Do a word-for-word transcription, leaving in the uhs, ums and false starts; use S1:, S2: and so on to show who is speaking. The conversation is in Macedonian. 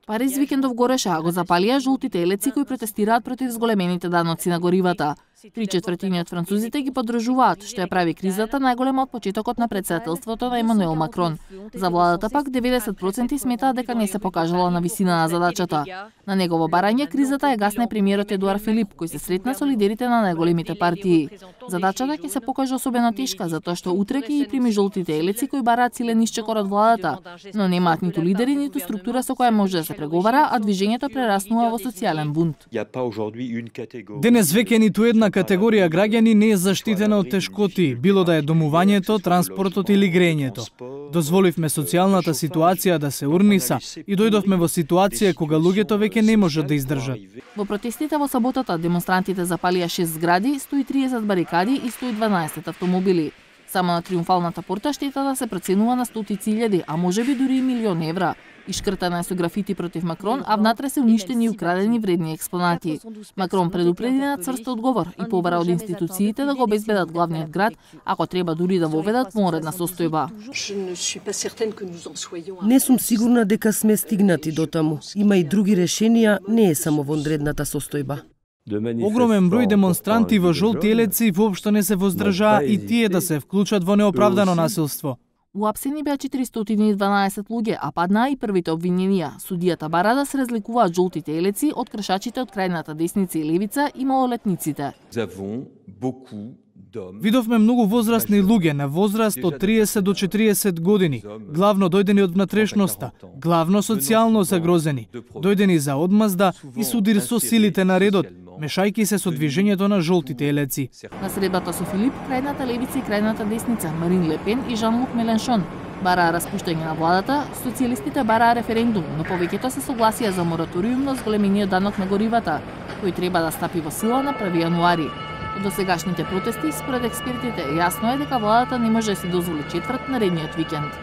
S1: Париз викендов гореше, а го запалија жолтите елеци кои протестираат против зголемените даноци на горивата. Три четвртини од французите ги поддржуваат, што ја прави кризата најголема од почетокот на претседателството на Емануел Макрон. За владата пак деветдесет проценти сметаат дека не се покажала на висина на задачата. На негово барање кризата е гасне премиерот Едуар Филип, кој се сретна со лидерите на најголемите партии. Задачата ќе се покаже особено тешка, затоа што утре ќе ги прими жолтите елеци кои бараат силен исчекор од владата, но немаат ниту лидери, ниту структура со која може да се преговара, а движењето прераснува во социјален бунт.
S2: Денес веќе ниту една категорија граѓани не е заштитена од тешкоти, било да е домувањето, транспортот или грејењето. Дозволивме социјалната ситуација да се урниса и дојдовме во ситуација кога луѓето веќе не можат да издржат.
S1: Во протестите во саботата демонстрантите запалија шест згради, сто и триесет барикади и сто и дванаесет автомобили. Само на Триумфалната порта штетата се проценува на стотици илјади, а можеби дури и милион евра. Ишкртана е со графити против Макрон, а внатре се уништени и украдени вредни експонати. Макрон предупреди на цврст одговор и побара од институциите да го обезбедат главниот град, ако треба дури да воведат вонредна состојба.
S3: Не сум сигурна дека сме стигнати до таму. Има и други решенија, не е само вонредната состојба.
S2: Огромен број демонстранти во жолти елеци воопшто не се воздржаа и тие да се вклучат во неоправдано насилство.
S1: Уапсени беа четиристотини и дванаесет луѓе, а паднаа и првите обвиненија. Судијата бара да се разликуваат жолтите елеци од кршачите од крајната десница и левица и малолетниците.
S2: Видовме многу возрастни луѓе на возраст од триесет до четириесет години, главно дојдени од внатрешноста, главно социјално загрозени, дојдени за одмазда и судир со силите на редот, мешајки се со движењето на жолтите елеци.
S1: На средбата со Филип, крајната левица и крајната десница, Марин Ле Пен и Жан-Лук Меленшон бараа распуштање на владата, социјалистите бараа референдум, но повеќето се согласија за мораториум на зголемениот данок на горивата, кој треба да стапи во сила на први јануари. Од досегашните протести, според експертите, јасно е дека владата не може да си дозволи четврт наредниот викенд.